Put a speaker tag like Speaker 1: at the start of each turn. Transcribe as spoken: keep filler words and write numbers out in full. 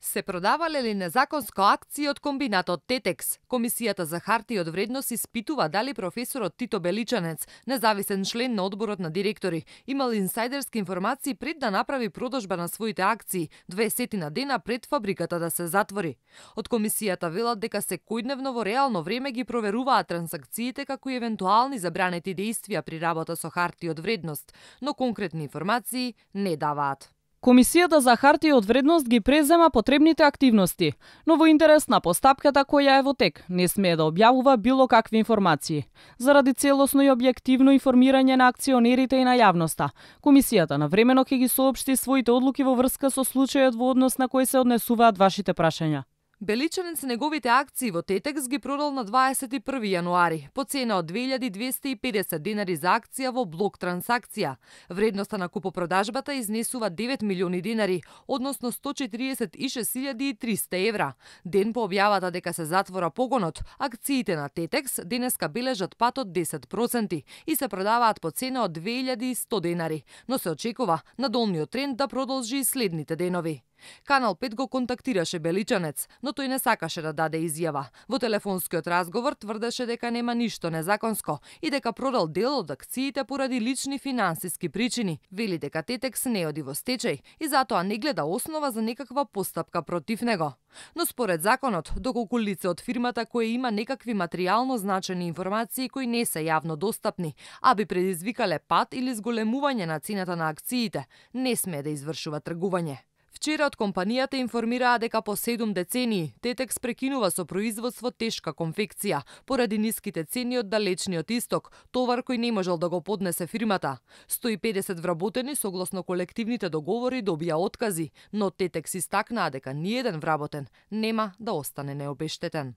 Speaker 1: Се продавале ли незаконско акции од комбинатот Тетекс? Комисијата за хартија од вредност испитува дали професорот Тито Беличанец, независен член на одборот на директори, имал инсайдерски информации пред да направи продажба на своите акции дваесет дена пред фабриката да се затвори. Од комисијата велат дека секојдневно во реално време ги проверуваат трансакциите како и евентуални забранети действија при работа со хартии од вредност, но конкретни информации не даваат.
Speaker 2: Комисијата за хартија од вредност ги презема потребните активности, но во интерес на постапката која е во тек, не смее да објавува било какви информации. Заради целосно и објективно информирање на акционерите и на јавноста, комисијата навремено ќе ги соопшти своите одлуки во врска со случајот во однос на кој се однесуваат вашите прашања.
Speaker 1: Беличанец неговите акции во Тетекс ги продал на дваесет и први јануари по цена од две илјади двесте и педесет денари за акција во блок трансакција. Вредноста на купопродажбата изнесува девет милиони денари, односно сто четиридесет и шест илјади и триста евра. Ден по објавата дека се затвора погонот, акциите на Тетекс денеска бележат пат од десет проценти и се продаваат по цена од две илјади и сто денари, но се очекува надолниот тренд да продолжи и следните денови. Канал пет го контактираше Беличанец, но тој не сакаше да даде изјава. Во телефонскиот разговор тврдеше дека нема ништо незаконско и дека продал дел од акциите поради лични финансиски причини. Вели дека Тетекс не оди во стечај и затоа не гледа основа за некаква постапка против него. Но според законот, доколку лице од фирмата кое има некакви материјално значени информации кои не се јавно достапни, а би предизвикале пад или зголемување на цената на акциите, не смее да извршува тргување. Вчера од компанијата информираа дека по седум децении Тетекс прекинува со производство тешка конфекција поради ниските цени од далечниот исток, товар кој не можел да го поднесе фирмата. сто и педесет вработени согласно колективните договори добија откази, но Тетекс истакнаа дека ниеден вработен нема да остане необештетен.